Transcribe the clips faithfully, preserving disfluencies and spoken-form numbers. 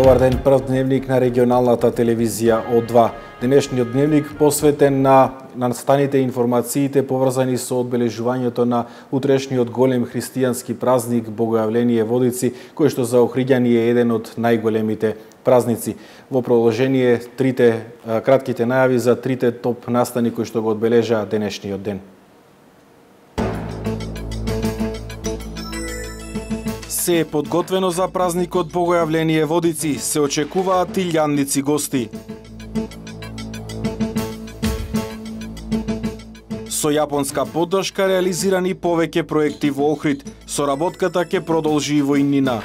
Добар ден, прв дневник на регионалната телевизија О два. Денешниот дневник посветен на настаните информациите поврзани со одбележувањето на утрешниот голем христијански празник Богојавление Водици, кој што за охриѓани е еден од најголемите празници. Во продолжение трите кратките најави за трите топ настани кои што го одбележаа денешниот ден. Се е подготвено за празникот Богојавление Водици, се очекуваат илјадници гости. Со јапонска поддршка реализирани повеќе проекти во Охрид, соработката ќе продолжи и во иднина.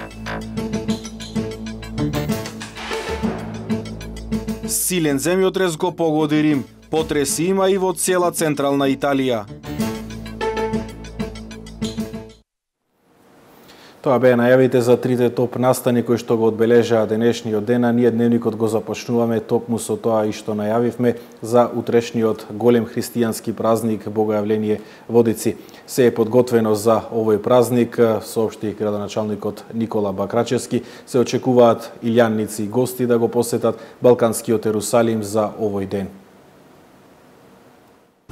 Силен земјотрес го погоди Рим, потреси има и во цела централна Италија. Тоа беа најавите за трите топ настани кои што го одбележаа денешниот ден, а ние дневникот го започнуваме токму со тоа и што најавивме за утрешниот голем христијански празник Богојавление Водици. Се е подготвено за овој празник, соопшти градоначалникот Никола Бакрачевски. Се очекуваат илјадници гости да го посетат Балканскиот Ерусалим за овој ден.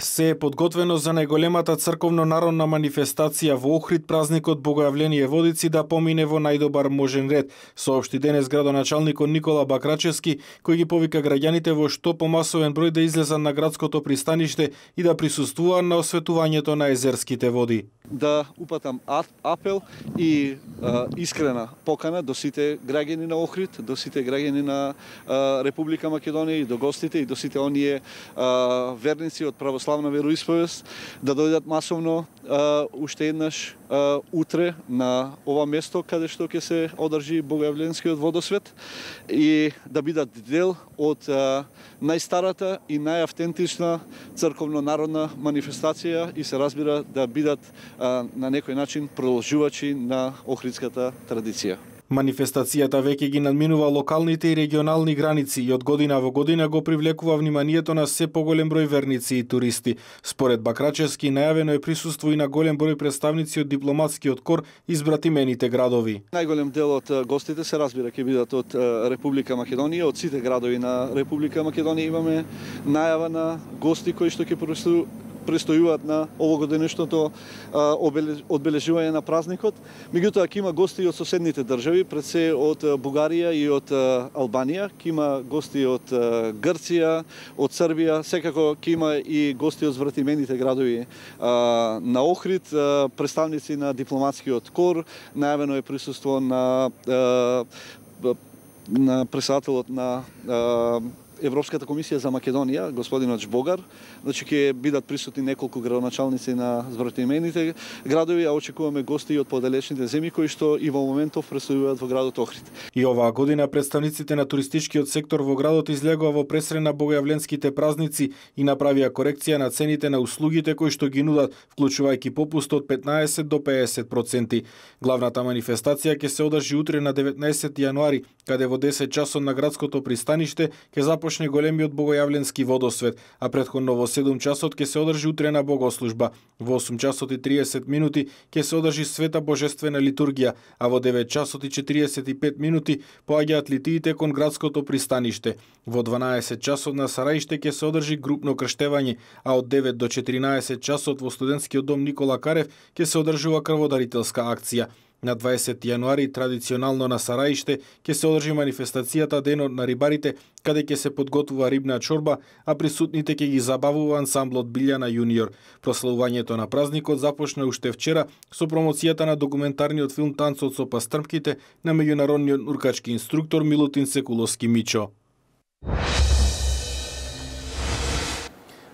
Се е подготвено за најголемата црковно-народна манифестација во Охрид, празникот Богојавление Водици да помине во најдобар можен ред, соопшти денес градоначалникот Никола Бакрачевски, кој ги повика граѓаните во што помасовен број да излезат на градското пристаниште и да присуствуваат на осветувањето на езерските води. Да упатам апел и а, искрена покана до сите граѓани на Охрид, до сите граѓани на а, Република Македонија и до гостите и до сите оние а, верници од православна вероисповест да дојдат масовно а, уште еднаш а, утре на ова место каде што ќе се одржи Богојавленскиот водосвет и да бидат дел од а, најстарата и најавтентична црковно-народна манифестација и се разбира да бидат а, на некој начин продолжувачи на охридската традиција. Манифестацијата веќе ги надминува локалните и регионални граници и од година во година го привлекува вниманието на се поголем број верници и туристи. Според Бакрачевски, најавено е присуство и на голем број представници од дипломатскиот кор избратимените градови. Најголем дел од гостите се разбира ќе бидат од Република Македонија, од сите градови на Република Македонија имаме најава на гости кои што ќе престојуваат на овогодишното одбележување на празникот. Меѓутоа ќе има гости од соседните држави, пред се од Бугарија и од Албанија, ќе има гости од Грција, од Србија, секако ќе има и гости од збратимените градови на Охрид, представници на дипломатскиот кор, најавено е присуство на на председателот на Европската комисија за Македонија, господинот Жбогар, значи ќе бидат присутни неколку градоначалници на збратимените градови, а очекуваме гости и од подалечните земји кои што и во моментов престојуваат во градот Охрид. И оваа година представниците на туристичкиот сектор во градот излегоа во пресрен на богојавленските празници и направија корекција на цените на услугите кои што ги нудат, вклучувајќи попуст од петнаесет до педесет проценти. Главната манифестација ќе се одржи утре на деветнаесети јануари, каде во десет часот на градското пристаниште ќе започне големиот богојавленски водосвет, а претходно во седум часот ќе се одржи утрена богослужба. Во осум часот и триесет минути ќе се одржи света божествена литургија, а во девет часот и четириесет и пет минути поаѓаат литиите кон градското пристаниште. Во дванаесет часот на Сараиште ќе се одржи групно крштевање, а од девет до четиринаесет часот во студентскиот дом Никола Карев ќе се одржува крводарителска акција. На дваесети јануари традиционално на Сараиште ќе се одржи манифестацијата Денот на рибарите, каде ќе се подготвува рибна чорба, а присутните ќе ги забавува ансамблот Билјана Јуниор. Прославувањето на празникот започна уште вчера со промоцијата на документарниот филм Танцот со пастрмките на меѓународниот нуркачки инструктор Милутин Секуловски Мичо.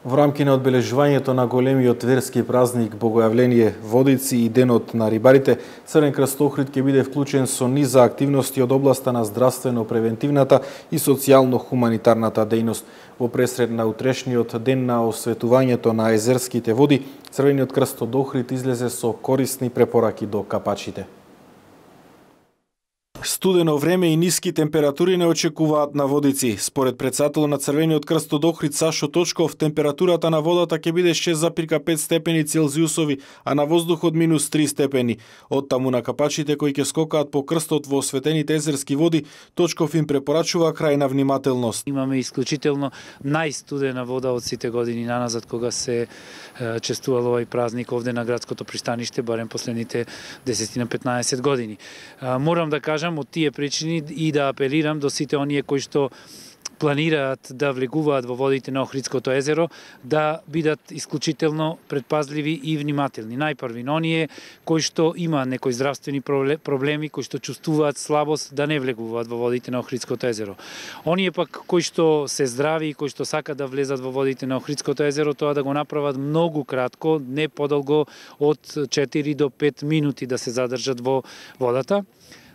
Во рамки на одбележувањето на големиот верски празник Богојавление Водици и Денот на рибарите, Црвен крст Охрид ќе биде вклучен со низ за активности од областа на здравствено-превентивната и социјално-хуманитарната дејност. Во пресред на утрешниот ден на осветувањето на езерските води, Црвениот крст од Охрид излезе со корисни препораки до капачите. студено време и ниски температури не очекуваат на Водици. Според претседателот на Црвениот крст од Охрид Сашо Точков, температурата на водата ќе биде шест зарез пет степени Целзиусови, а на воздухот минус три степени. Оттаму на капачите кои ќе скокаат по крстот во осветените езерски води, Точков им препорачува крајна внимателност. Имаме исклучително најстудена вода од сите години наназад кога се е, честувал овој празник овде на градското пристаниште, барем последните десет на петнаесет години. А, морам да кажам од тие причини и да апелирам до сите оние кои што планираат да влегуваат во водите на Охридското езеро, да бидат исклучително предпазливи и внимателни. Најпрви, оние кои што има некои здравствени проблеми, кои што чувствуваат слабост, да не влегуваат во водите на Охридското езеро. Оние пак кои што се здрави и кои што сакаат да влезат во водите на Охридското езеро, тоа да го направат многу кратко, не подолго од четири до пет минути да се задржат во водата,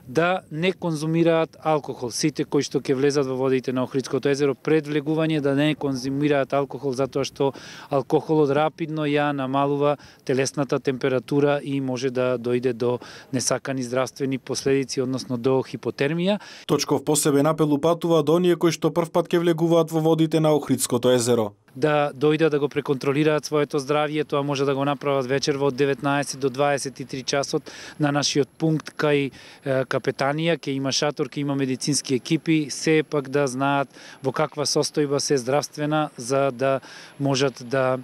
да не конзумираат алкохол. Сите кои што ќе влезат во водите на Охридското езеро пред влегување да не конзумираат алкохол, затоа што алкохолот рапидно ја намалува телесната температура и може да дојде до несакани здравствени последици, односно до хипотермија. Точков посебен апел упатува до оние кои што првпат ќе влегуваат во водите на Охридското езеро. Да дојдат да го преконтролираат своето здравје, тоа може да го направат вечерва од деветнаесет до дваесет и три часот на нашиот пункт кај капетанија, ке има шатор, ке има медицински екипи, се пак да знаат во каква состојба се здравствена за да можат да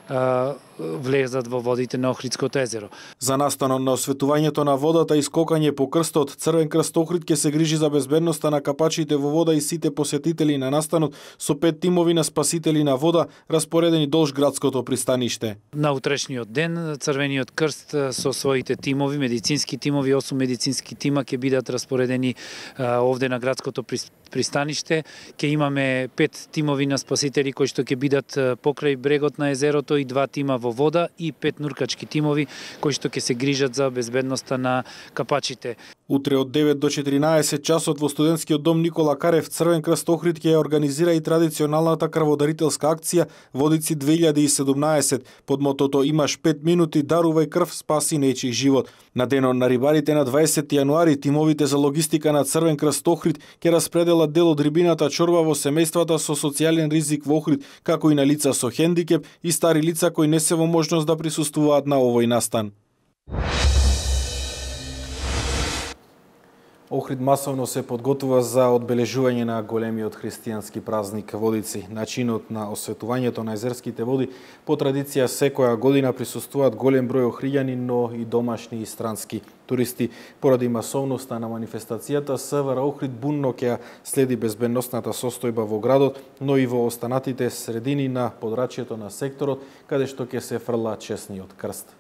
а, влезат во водите на Охридското езеро. За настанот на осветувањето на водата и скокање по крстот, Црвен крст Охрид ќе се грижи за безбедноста на капачите во вода и сите посетители на настанот со пет тимови на спасители на вода распоредени долж градското пристаниште. На утрешниот ден Црвениот крст со своите тимови, медицински тимови, осум медицински тима ќе бидат распоредени а, овде на градското пристаниште. Ќе имаме пет тимови на спасители кои што ќе бидат покрај брегот на езерото и два тима во вода и пет нуркачки тимови кои што ќе се грижат за безбедноста на капачите. Утре од девет до четиринаесет часот во студентскиот дом Никола Карев Црвен крст Охрид ќе ја организира и традиционалната крводарителска акција Водици две илјади и седумнаесет под мотото Имаш пет минути, дарувај крв, спаси нечи живот. На денот на рибарите на дваесети јануари тимовите за логистика на Црвен крст Охрид ќе распределат дел од рибината чорба во семејствата со социјален ризик во Охрид, како и на лица со хендикеп и стари лица кои не се во можност да присуствуваат на овој настан. Охрид масовно се подготвува за одбележување на големиот христијански празник Водици. Начинот на осветувањето на езерските води по традиција секоја година присуствуваат голем број охриѓани, но и домашни и странски туристи. Поради масовноста на манифестацијата, СВР Охрид бунно ќе следи безбедносната состојба во градот, но и во останатите средини на подрачјето на секторот, каде што ќе се фрла чесниот крст.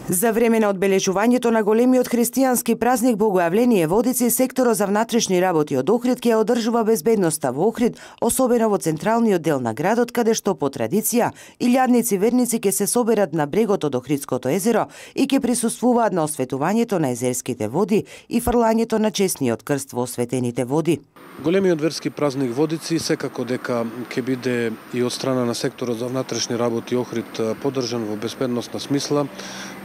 За време на одбележувањето на големиот христијански празник Богојавление Водици, секторот за внатрешни работи од Охрид ќе одржува безбедноста во Охрид, особено во централниот дел на градот, каде што по традиција илјадници верници ќе се соберат на брегот од Охридското езеро и ќе присуствуваат на осветувањето на езерските води и фрлањето на чесниот крст во осветените води. Големиот верски празник Водици секако дека ќе биде и од страна на секторот за внатрешни работи Охрид поддржан во безбедносна смисла.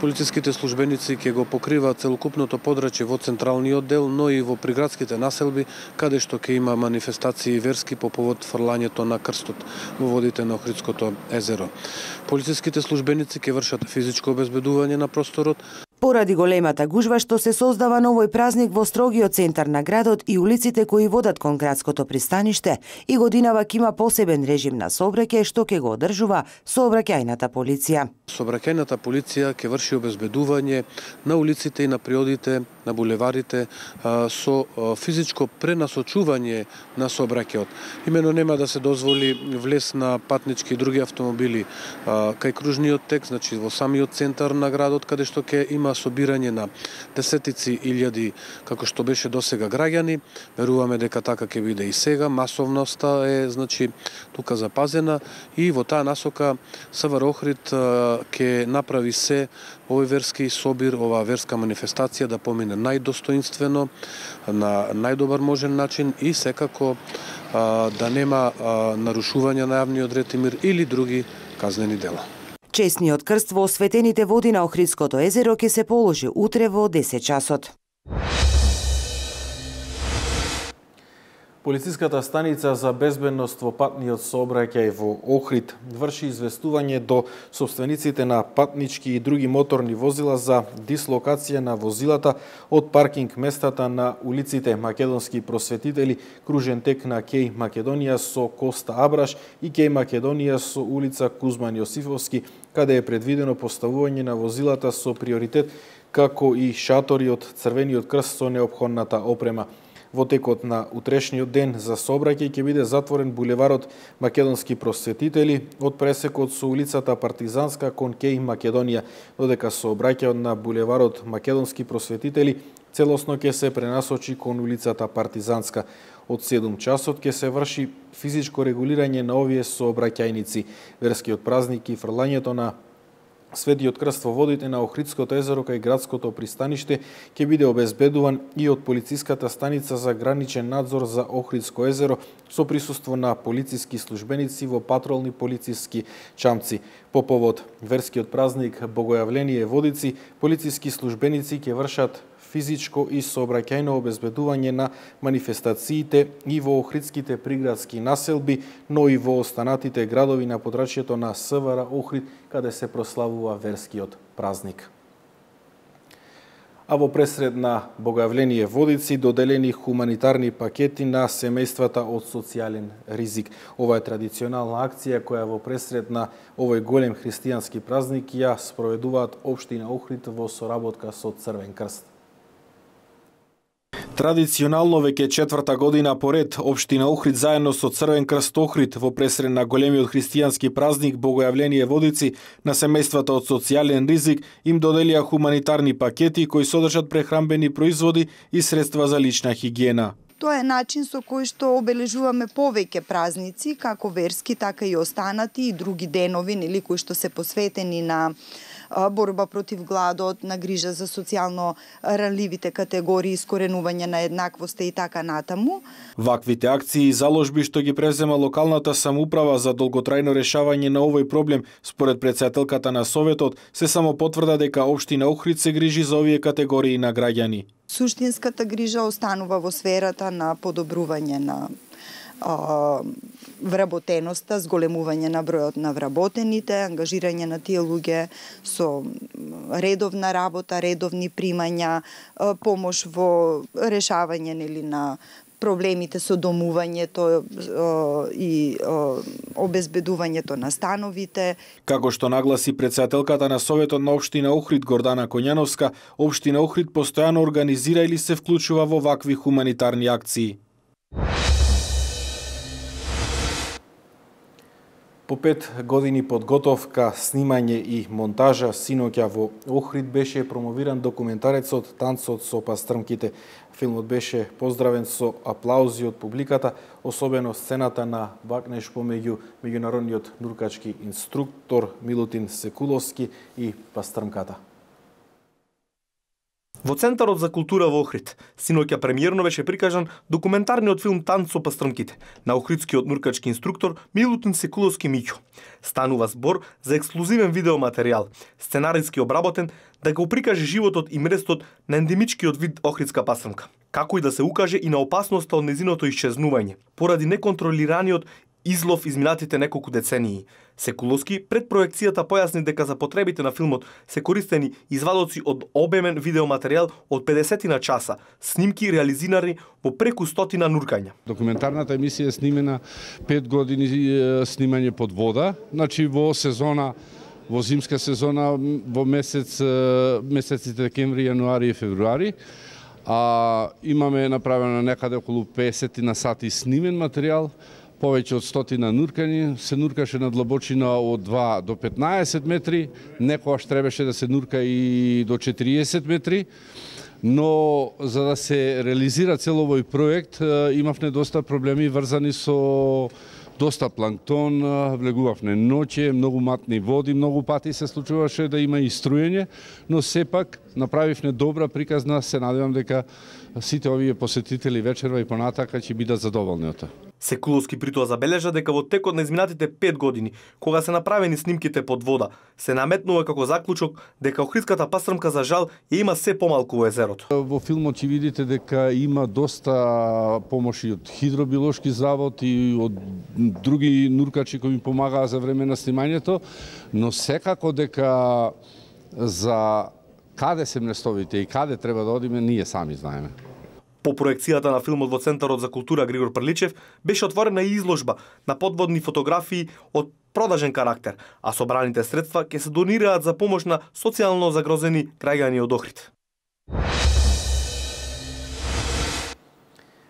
Полициските службеници ќе го покриваат целокупното подрачје во централниот дел, но и во приградските населби, каде што ќе има манифестации верски по повод фрлањето на крстот во водите на Охридското езеро. Полициските службеници ќе вршат физичко обезбедување на просторот. Поради големата гужва што се создава на овој празник во строгиот центар на градот и улиците кои водат кон градското пристаниште, и годинава ќе има посебен режим на сообраќај што ќе го одржува сообраќајната полиција. Сообраќајната полиција ќе врши обезбедување на улиците и на приодите, на булеварите со физичко пренасочување на сообраќајот. Имено нема да се дозволи влез на патнички и други автомобили кај кружниот тек, значи во самиот центар на градот, каде што ќе има собирање на десетици илјади, како што беше досега граѓани. Веруваме дека така ќе биде и сега. Масовноста е, значи, тука запазена и во таа насока СВР Охрид ќе направи се овој верски собир, оваа верска манифестација да помине најдостоинствено, на најдобар можен начин и секако да нема нарушување на јавниот ред и мир или други казнени дела. Чесниот крст во осветените води на Охридското езеро ќе се положи утре во десет часот. Полициската станица за безбедност во патниот сообраќај во Охрид врши известување до собствениците на патнички и други моторни возила за дислокација на возилата од паркинг местата на улиците Македонски просветители, кружен тек на Кеј Македонија со Коста Абраш и Кеј Македонија со улица Кузман Јосифовски, каде е предвидено поставување на возилата со приоритет, како и шатори од Црвениот крст со неопходната опрема. Во текот на утрешниот ден за сообраќај ќе биде затворен булеварот Македонски просветители од пресекот со улицата Партизанска кон Кеј Македонија, додека сообраќајот на булеварот Македонски просветители целосно ќе се пренасочи кон улицата Партизанска. Од седум часот ќе се врши физичко регулирање на овие сообраќајници. Верскиот празник и фрлањето на Светиот крст во водите на Охридското езеро кај градското пристаниште ќе биде обезбедуван и од полициската станица за граничен надзор за Охридско езеро со присуство на полициски службеници во патролни полициски чамци. По повод верскиот празник Богојавление Водици, полициски службеници ќе вршат физичко и сообраќајно обезбедување на манифестациите и во охридските приградски населби, но и во останатите градови на подрачјето на СВР Охрид, каде се прославува верскиот празник. А во пресред на Богојавление Водици доделени хуманитарни пакети на семејствата од социјален ризик. Ова е традиционална акција која во пресред на овој голем христијански празник ја спроведуваат општина Охрид во соработка со Црвен крст. Традиционално веќе четврта година поред општина Охрид заедно со Црвен крст Охрид во пресред на големиот христијански празник Богојавление Водици на семејствата од социјален ризик им доделија хуманитарни пакети кои содржат прехранбени производи и средства за лична хигиена. Тоа е начин со кој што обележуваме повеќе празници, како верски, така и останати и други денови, нели, кои што се посветени на борба против гладот, на грижа за социјално ранливите категории, искоренување на еднаквоста и така натаму. Ваквите акции и заложби што ги презема локалната самоуправа за долготрајно решавање на овој проблем, според претседателката на Советот, се само потврда дека општина Охрид се грижи за овие категории на граѓани. Суштинската грижа останува во сферата на подобрување на вработеноста, зголемување на бројот на вработените, ангажирање на тие луѓе со редовна работа, редовни примања, помош во решавање нели на проблемите со домувањето и обезбедувањето на становите. Како што нагласи претседателката на Советот на општина Охрид Гордана Коњановска, општина Охрид постојано организира или се вклучува во вакви хуманитарни акции. По пет години подготовка, снимање и монтажа, синоќа во Охрид беше промовиран документарецот Танцот со пастрмките. Филмот беше поздравен со аплаузи од публиката, особено сцената на бакнеж помеѓу меѓународниот нуркачки инструктор Милутин Секуловски и пастрмката. Во Центарот за култура во Охрид, синоќа премиерно беше прикажан документарниот филм Танц со пастрмките на охридскиот нуркачки инструктор Милутин Секуловски Миќо. Станува збор за ексклузивен видеоматеријал, сценариски обработен да го прикаже животот и мрестот на ендемичкиот вид охридска пастрмка, како и да се укаже и на опасноста од незиното исчезнување поради неконтролираниот излов изминатите неколку децении. Секуловски пред проекцијата појасни дека за потребите на филмот се користени извадоци од обемен видеоматеријал од педесет на часа, снимки реализирани во преку стотина нуркања. Документарната емисија е снимена пет години снимање под вода, значи во сезона, во зимска сезона во месец месеците декември, јануари и февруари. А имаме направено некаде околу песет на сати снимен материјал. Повеќе од стотина нуркани, се нуркаше на длабочина од два до петнаесет метри, некојаш требаше да се нурка и до четириесет метри, но за да се реализира цел овој проект имавме доста проблеми врзани со доста планктон, влегувавме ноќе, многу матни води, многу пати се случуваше да има и струјење, но сепак направивме добра приказна, се надевам дека сите овие посетители вечерва и понатака ќе бидат задоволни од тоа. Секуловски при тоа забележа дека во текот на изминатите пет години, кога се направени снимките под вода, се наметнува како заклучок дека охридската пастрмка за жал ја има се помалку во езерото. Во филмот ќе видите дека има доста помоши од хидробиолошки завод и од други нуркачи кои ми помагаа за време на снимањето, но секако дека за каде се местовите и каде треба да одиме, ние сами знаеме. По проекцијата на филмот во Центарот за култура Григор Прличев беше отворена и изложба на подводни фотографии од продажен карактер, а собраните средства ќе се донираат за помош на социјално загрозени граѓани од Охрид.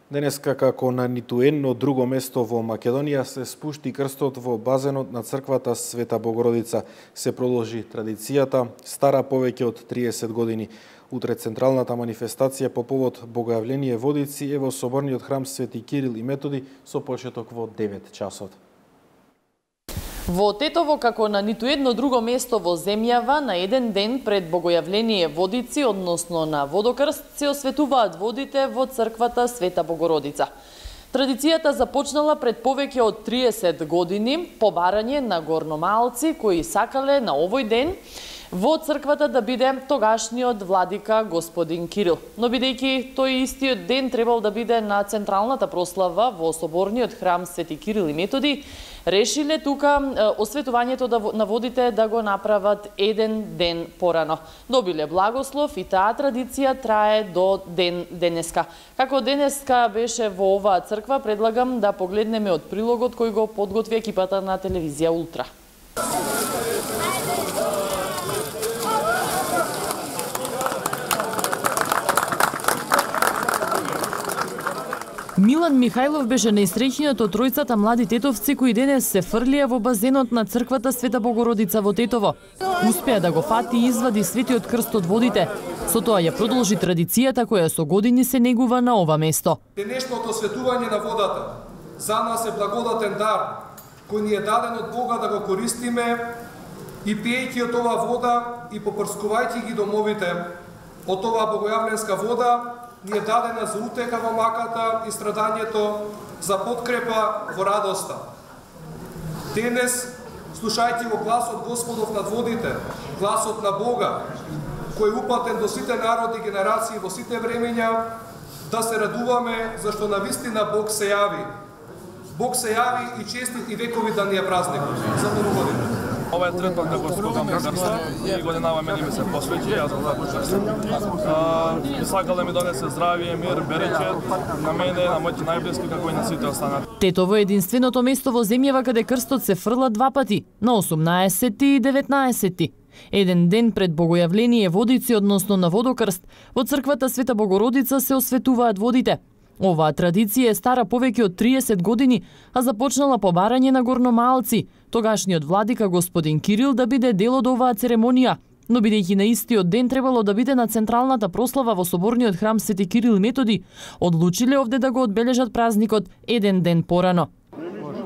Денеска, како на ниту едно друго место во Македонија, се спушти крстот во базенот на црквата Света Богородица. Се продолжи традицијата, стара повеќе од триесет години. Утре централната манифестација по повод Богојавление Водици е во соборниот храм Свети Кирил и Методи со почеток во девет часот. Во Тетово, како на ниту едно друго место во земјава, на еден ден пред Богојавление Водици, односно на Водокрст, се осветуваат водите во црквата Света Богородица. Традицијата започнала пред повеќе од триесет години, по барање на горномалци кои сакале на овој ден во црквата да биде тогашниот владика господин Кирил. Но бидејќи тој истиот ден требал да биде на централната прослава во соборниот храм Свети Кирил и Методи, решиле тука осветувањето на водите да го направат еден ден порано. Добиле благослов и таа традиција трае до ден денеска. Како денеска беше во оваа црква, предлагам да погледнеме од прилогот кој го подготви екипата на телевизија Ултра. Милан Михајлов беше најсреќниот од тројцата млади тетовци кои денес се фрлија во базенот на црквата Света Богородица во Тетово. Успеа да го фати и извади светиот крст од водите. Со тоа ја продолжи традицијата која со години се негува на ова место. Денешното осветување на водата за нас е благодатен дар кој ни е даден од Бога да го користиме и пиејќи од оваа вода и попрскувајќи ги домовите од оваа богојавленска вода, ни е дадена за утеха во маката и страдањето, за подкрепа во радоста. Денес, слушајќи го гласот Господов над водите, гласот на Бога, кој е упатен до сите народи и генерации во сите времења, да се радуваме зашто навистина Бог се јави. Бог се јави и честит и векови да ни е празник. За многу години. Ова е трет пат како скокам на крста и годинава мене ми се посвети, јас го започнав. А, сакал да ми донесе здравие, мир, береќе на мене, на моите најблиски, како и на сите останати. Тетово е единственото место во земјава каде крстот се фрла два пати, на осумнаесети и деветнаесети. Еден ден пред Богојавление Водици, односно на Водокрст, во црквата Света Богородица се осветуваат водите. Оваа традиција е стара повеќе од триесет години, а започнала по барање на горномалци, тогашниот владика господин Кирил да биде дел од оваа церемонија. Но бидејќи на истиот ден требало да биде на централната прослава во соборниот храм Свети Кирил и Методи, одлучиле овде да го одбележат празникот еден ден порано.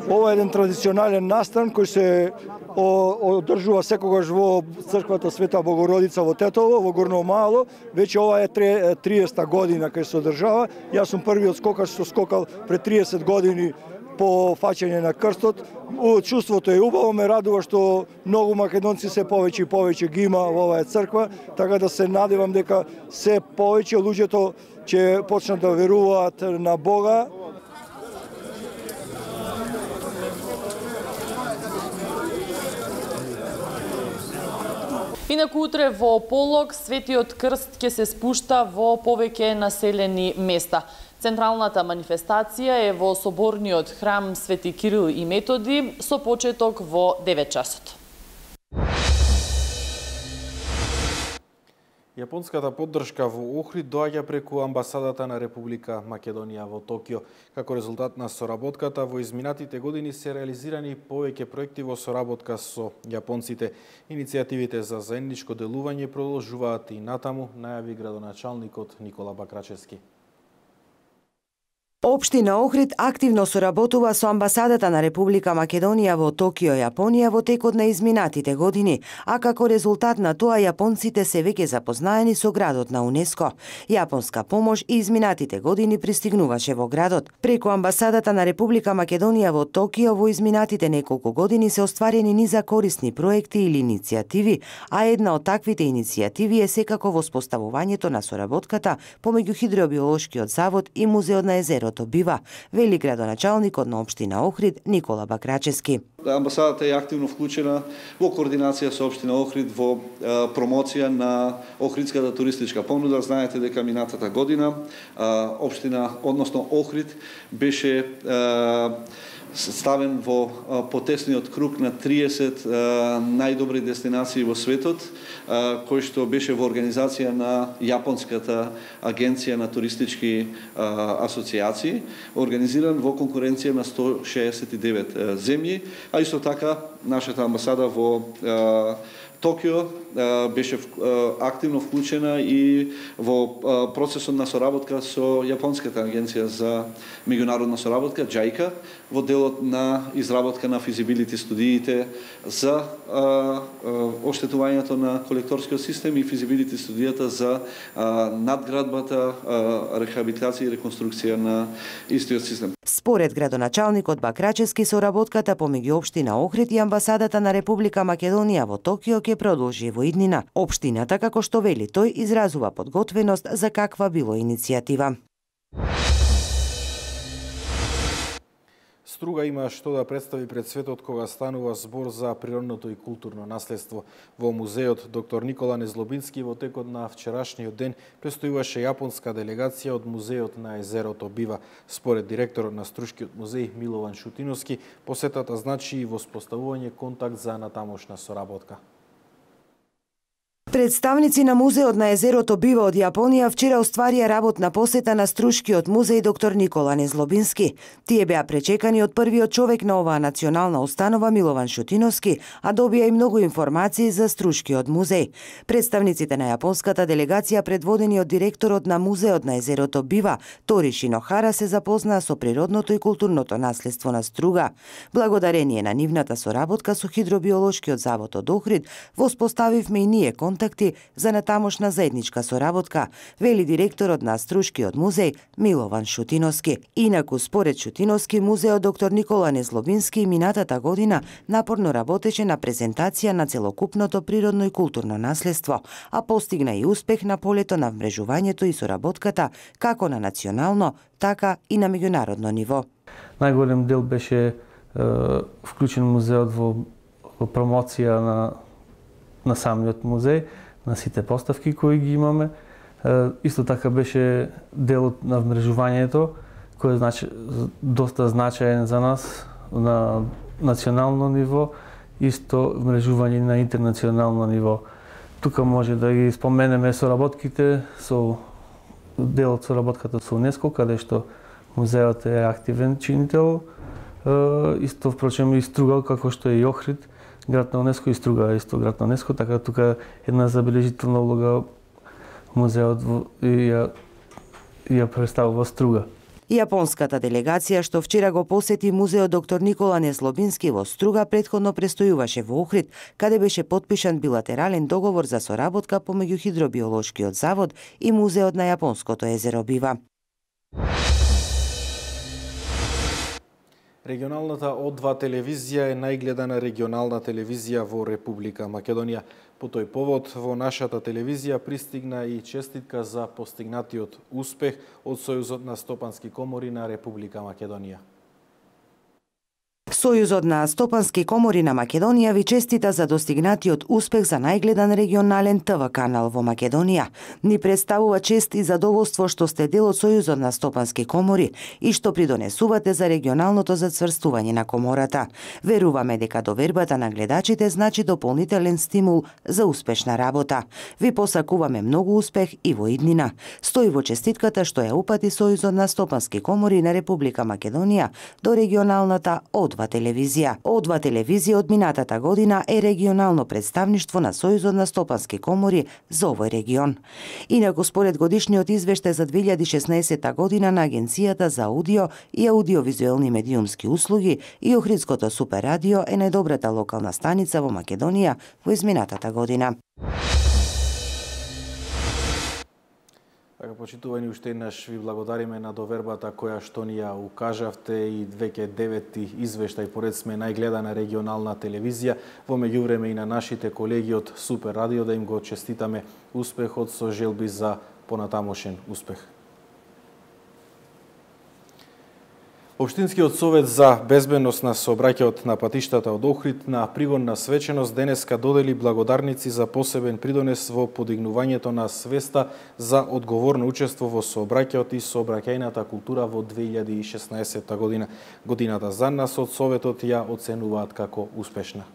Ова е еден традиционален настан кој се одржува секогаш во црквата Света Богородица во Тетово, во Горно Мало. Веќе ова е триесета година кај се одржава. Јас сум првиот скокач што скокал пред триесет години по фаќање на крстот. Чувството е убаво, ме радува што многу македонци се повеќе и повеќе ги има во оваа црква, така да се надевам дека се повеќе луѓето ќе почнат да веруваат на Бога. Инаку утре во полог Светиот крст ќе се спушта во повеќе населени места. Централната манифестација е во соборниот храм Свети Кирил и Методи со почеток во девет часот. Јапонската поддршка во Охрид доаѓа преку амбасадата на Република Македонија во Токио. Како резултат на соработката, во изминатите години се реализирани повеќе проекти во соработка со јапонците. Иницијативите за заедничко делување продолжуваат и натаму, најави градоначалникот Никола Бакрачевски. Општина Охрид активно соработува со амбасадата на Република Македонија во Токио, Јапонија во текот на изминатите години, а како резултат на тоа јапонците се веќе запознаени со градот на УНЕСКО. Јапонска помош и изминатите години пристигнуваше во градот. Преку амбасадата на Република Македонија во Токио во изминатите неколку години се остварени низа корисни проекти или иницијативи, а една од таквите иницијативи е секако воспоставувањето на соработката помеѓу Хидробиолошкиот завод и Музеот на езеро Бива, вели градоначалникот на општина Охрид Никола Бакрачевски. Амбасадата е активно вклучена во координација со општина Охрид во е, промоција на охридската туристичка понуда. Знаете дека минатата година е, општина, односно Охрид, беше е, ставен во потесниот круг на триесет најдобри дестинации во светот, кој што беше во организација на Јапонската агенција на туристички асоциации, организиран во конкуренција на сто шеесет и девет земји, а исто така нашата амбасада во Токио беше активно вклучена и во процесот на соработка со Јапонската агенција за меѓународна соработка, џајка, во делот на изработка на физибилити студиите за оштетувањето на колекторскиот систем и физибилити студијата за надградбата, рехабилитација и реконструкција на истиот систем. Според градоначалникот Бакрачевски, соработката помеѓу општина Охрид и амбасадата на Република Македонија во Токио ќе продолжи во иднина. Општината, како што вели тој, изразува подготвеност за каква било иницијатива. Струга има што да представи пред светот кога станува збор за природното и културно наследство. Во музеот доктор Никола Незлобински во текот на вчерашниот ден престојуваше јапонска делегација од Музеот на езерото Бива. Според директорот на Струшкиот музеј Милован Шутиновски, посетата значи и воспоставување контакт за натамошна соработка. Представници на Музеот на езерото Бива од Јапонија вчера остварија работна посета на Струшкиот музеј доктор Никола Незлобински. Тие беа пречекани од првиот човек на оваа национална установа Милован Шутиновски, а добија и многу информации за Струшкиот музеј. Представниците на јапонската делегација, предводени од директорот на Музеот на езерото Бива Тори Шинохара, се запознаа со природното и културното наследство на Струга. Благодарение на нивната соработка со Хидробиолошкиот завод од Охрид, воспоставивме и ние контакти за натамошна заедничка соработка, вели директорот на Струшкиот музеј Милован Шутиновски. Инаку, според Шутиновски, музеот доктор Никола Незлобински минатата година напорно работеше на презентација на целокупното природно и културно наследство, а постигна и успех на полето на вмрежувањето и соработката како на национално, така и на меѓународно ниво. Најголем дел беше е, вклучен музеот во, во промоција на на самиот музеј, на сите поставки кои ги имаме. Исто така беше делот на вмрежувањето, кој е значи, доста значаен за нас на национално ниво, исто вмрежување на интернационално ниво. Тука може да ги споменеме соработките со делот соработката со УНЕСКО, каде што музеот е активен чинител, исто впрочем и Струга, како што е и Охрид, град на УНЕСКО, и Струга е исто град на УНЕСКО, така тука една забележителна улога музеот и ја, ја представува Струга. Јапонската делегација што вчера го посети музеот доктор Никола Незлобински во Струга предходно престојуваше во Охрид, каде беше потпишан билатерален договор за соработка помеѓу Хидробиолошкиот завод и музеот на Јапонското езеро Бива. Регионалната О два телевизија е најгледана регионална телевизија во Република Македонија. По тој повод во нашата телевизија пристигна и честитка за постигнатиот успех од Сојузот на стопански комори на Република Македонија. Сојузот на стопански комори на Македонија ви честита за достигнатиот успех за најгледан регионален ТВ канал во Македонија. Ни представува чест и задоволство што сте дел од Сојузот на стопански комори и што придонесувате за регионалното зацврстување на комората. Веруваме дека довербата на гледачите значи дополнителен стимул за успешна работа. Ви посакуваме многу успех и во иднина. Стои во честитката што ја упати Сојузот на стопански комори на Република Македонија до регионалната О два Одва телевизија. Одва телевизија од минатата година е регионално представништво на Сојузот на стопански комори за овој регион. Инаку според годишниот извештај за две илјади и шеснаесетта година на Агенцијата за аудио и аудиовизуелни медиумски услуги и Охридското Супер радио е најдобрата локална станица во Македонија во изминатата година. Така, почитувани, уште еднаш ви благодариме на довербата која што ни ја укажавте и веќе девети извештај поред сме најгледана регионална телевизија. Во меѓувреме и на нашите колеги од Супер радио да им го честитаме успехот со желби за понатамошен успех. Општинскиот совет за безбедност на сообраќајот на патиштата од Охрид на пригодна свеченост денеска додели благодарници за посебен придонес во подигнувањето на свеста за одговорно учество во сообраќајот и сообраќајната култура во две илјади и шеснаесетта година. Годината за нас од советот ја оценуваат како успешна.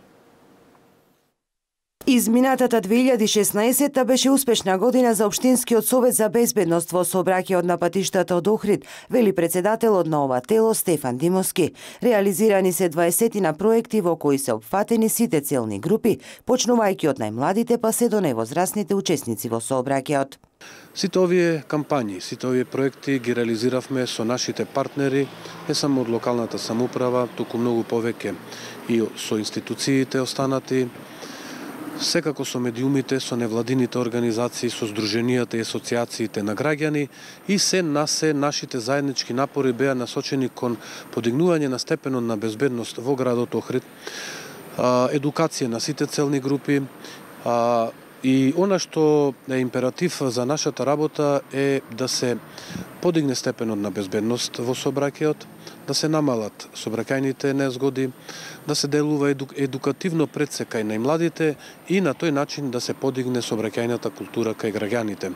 Изминатата две илјади и шеснаесетта беше успешна година за Општинскиот совет за безбедност во сообраќајот на патиштата од Охрид, вели председателот на ова тело Стефан Димовски. Реализирани се дваесет проекти во кои се опфатени сите целни групи, почнувајќи од најмладите па се до највозрасните учесници во сообраќајот. Сите овие кампањи, сите овие проекти ги реализиравме со нашите партнери, не само од локалната самоуправа, туку многу повеќе и со институциите останати, секако со медиумите, со невладините организации, со здруженијата и асоциациите на граѓани и се на се нашите заеднички напори беа насочени кон подигнување на степенот на безбедност во градот Охрид, едукација на сите целни групи, и она што е императив за нашата работа е да се подигне степенот на безбедност во сообраќајот, да се намалат сообраќајните незгоди, да се делува еду, едукативно предсе кај најмладите и на тој начин да се подигне сообраќајната култура кај граѓаните.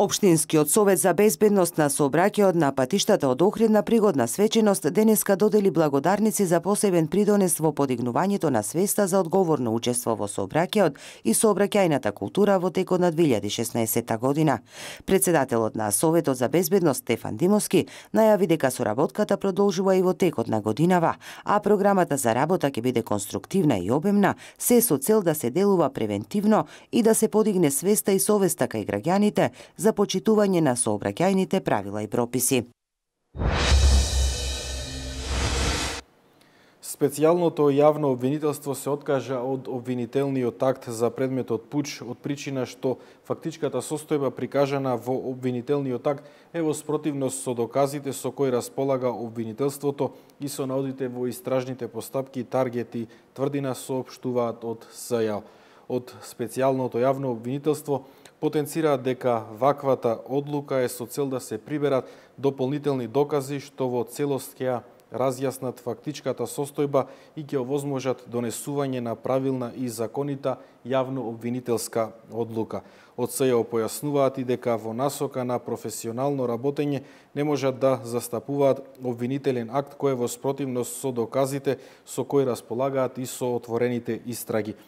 Општинскиот совет за безбедност на сообраќајот на патиштата од Охрид на пригодна свеченост денеска додели благодарници за посебен придонес во подигнувањето на свеста за одговорно учество во сообраќајот и сообраќајната култура во текот на две илјади и шеснаесетта година. Председателот на Советот за безбедност Стефан Димовски најави дека соработката продолжува и во текот на годинава, а програмата за работа ќе биде конструктивна и обемна, се со цел да се делува превентивно и да се подигне свеста и совеста кај граѓаните за почитување на сообраќајните правила и прописи. Специјалното јавно обвинителство се откажа од обвинителниот акт за предметот пуч од причина што фактичката состојба прикажана во обвинителниот акт е во спротивност со доказите со кои располага обвинителството и со наодите во истражните постапки, таргети, тврдина соопштуваат од СЈ. Од специјалното јавно обвинителство потенцираат дека ваквата одлука е со цел да се приберат дополнителни докази што во целост ќе разјаснат фактичката состојба и ќе овозможат донесување на правилна и законита јавно обвинителска одлука. Од СЈ појаснуваат и дека во насока на професионално работење не можат да застапуваат обвинителен акт кој е во спротивност со доказите со кои располагаат и со отворените истраги.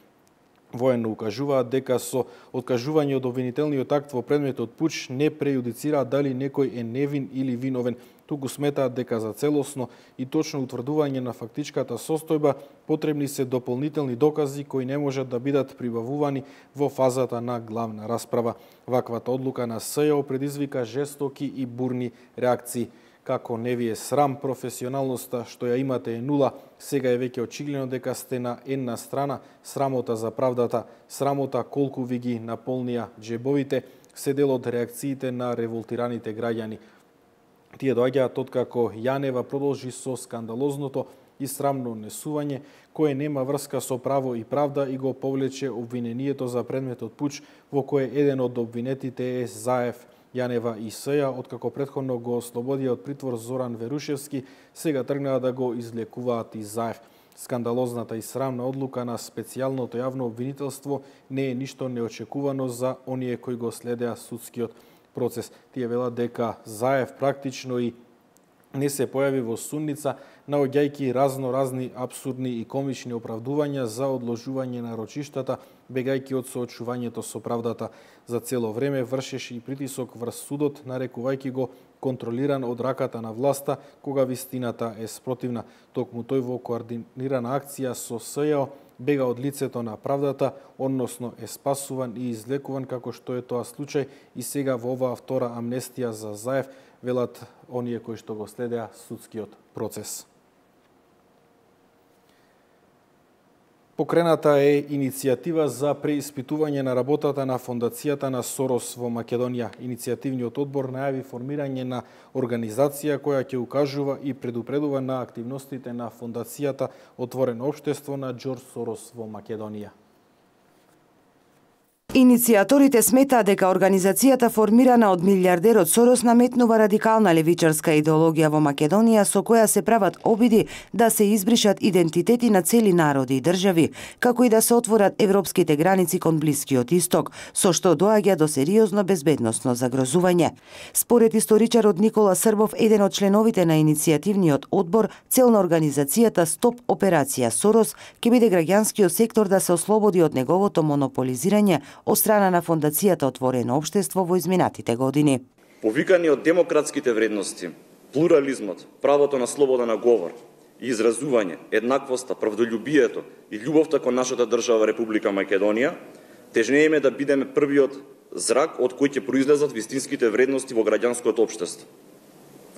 Военно укажуваат дека со откажување од обвинителниот акт во предметот пуч не прејудицираат дали некој е невин или виновен, туку сметаат дека за целосно и точно утврдување на фактичката состојба потребни се дополнителни докази кои не можат да бидат прибавувани во фазата на главна расправа. Ваквата одлука на СЈ предизвика жестоки и бурни реакции. Како не ви е срам, професионалноста што ја имате е нула, сега е веќе очигледно дека сте на една страна, срамота за правдата, срамота колку ви ги наполнија джебовите, се дел од реакциите на револтираните граѓани. Тие доаѓаат откако Јанева продолжи со скандалозното и срамно однесување, кое нема врска со право и правда и го повлече обвинението за предметот пуч, во кое еден од обвинетите е Заев, Јанева и СЈ, откако претходно го ослободија од притвор Зоран Верушевски, сега тргнаа да го излекуваат и Заев. Скандалозната и срамна одлука на специјалното јавно обвинителство не е ништо неочекувано за оние кои го следеа судскиот процес. Тие велат дека Заев практично и не се појави во судница, наоѓајќи разно-разни абсурдни и комични оправдувања за одложување на рочиштата, бегајќи од соочувањето со правдата. За цело време вршеше и притисок врз судот, нарекувајќи го контролиран од раката на власта, кога вистината е спротивна. Токму тој во координирана акција со СЈО бега од лицето на правдата, односно е спасуван и излекуван како што е тоа случај и сега во оваа втора амнестија за Заев, велат оние кои што го следеа судскиот процес. Покрената е иницијатива за преиспитување на работата на фондацијата на Сорос во Македонија. Иницијативниот одбор најави формирање на организација која ќе укажува и предупредува на активностите на фондацијата Отворено општество на Џорџ Сорос во Македонија. Иницијаторите сметаат дека организацијата формирана од милијардерот Сорос наметнува радикална левичарска идеологија во Македонија со која се прават обиди да се избришат идентитети на цели народи и држави, како и да се отворат европските граници кон Блискиот Исток, со што доаѓа до сериозно безбедносно загрозување. Според историчарот Никола Србов, еден од членовите на иницијативниот одбор, цел на организацијата Стоп операција Сорос ќе биде граѓанскиот сектор да се ослободи од неговото монополизирање од страна на фондацијата Отворено општество во изминатите години. Повикани од демократските вредности, плурализмот, правото на слобода на говор и изразување, еднаквоста, правдолюбието и љубовта кон нашата држава Република Македонија, тежнееме да бидеме првиот зрак од кој ќе произлезат вистинските вредности во граѓанското општество.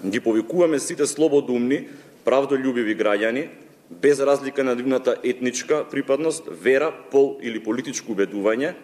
Ги повикуваме сите слободумни, правдолюбиви граѓани, без разлика на нивната етничка припадност, вера, пол или политичко убедување,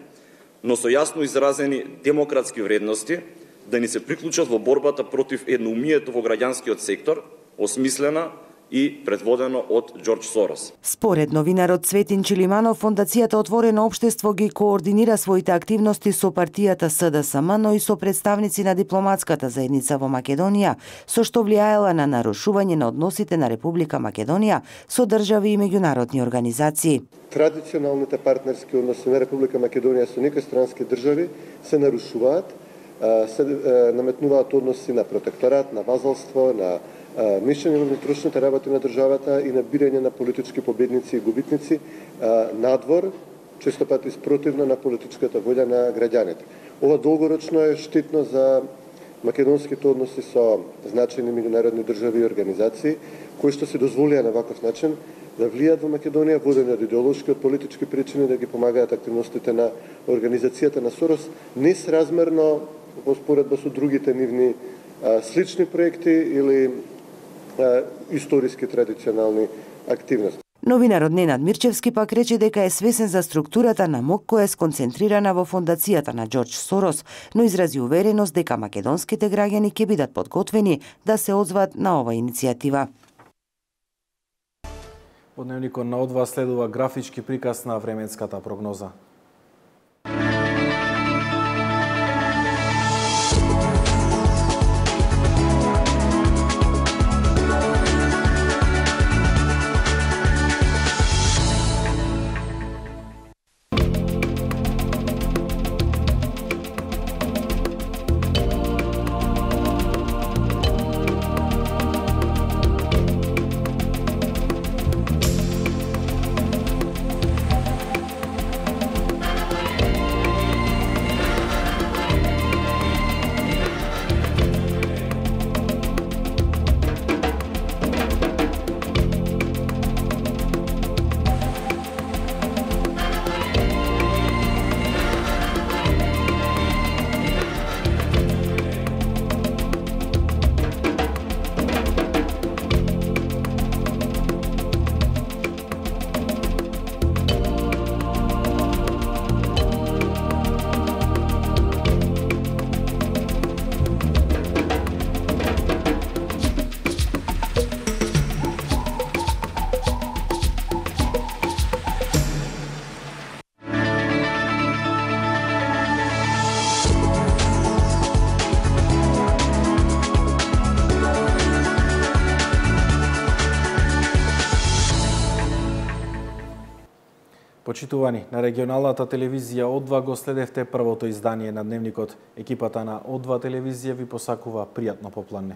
но со јасно изразени демократски вредности, да ни се приклучат во борбата против едноумието во граѓанскиот сектор, осмислена и предводено од Џорџ Сорос. Според новинарот Цветин Чилиманов, фондацијата Отворено општество ги координира своите активности со партијата СДСМ, но и со представници на дипломатската заедница во Македонија, со што влијаела на нарушување на односите на Република Македонија со држави и меѓународни организации. Традиционалните партнерски односи на Република Македонија со некои странски држави се нарушуваат, се наметнуваат односи на протекторат, на вазалство, на мешање во внатрешните работи на државата и на бирање на политички победници и губитници надвор, често пати спротивно на политичката волја на граѓаните. Ова долгорочно е штетно за македонските односи со значајни меѓународни држави и организации, кои што се дозволија на ваков начин да влијат во Македонија, водени од идеолошки, од политички причини, да ги помагаат активностите на организацијата на Сорос, несразмерно во споредба со другите нивни слични проекти или историски традиционални активности. Новинарот Ненад Мирчевски пак рече дека е свесен за структурата на МОК која е сконцентрирана во фондацијата на Џорџ Сорос, но изрази увереност дека македонските граѓани ќе бидат подготвени да се озват на оваа иницијатива. Во дневникот на Одва следува графички приказ на временската прогноза. Почитувани, на регионалната телевизија О два го следевте првото издание на Дневникот. Екипата на О два телевизија ви посакува пријатно попладне.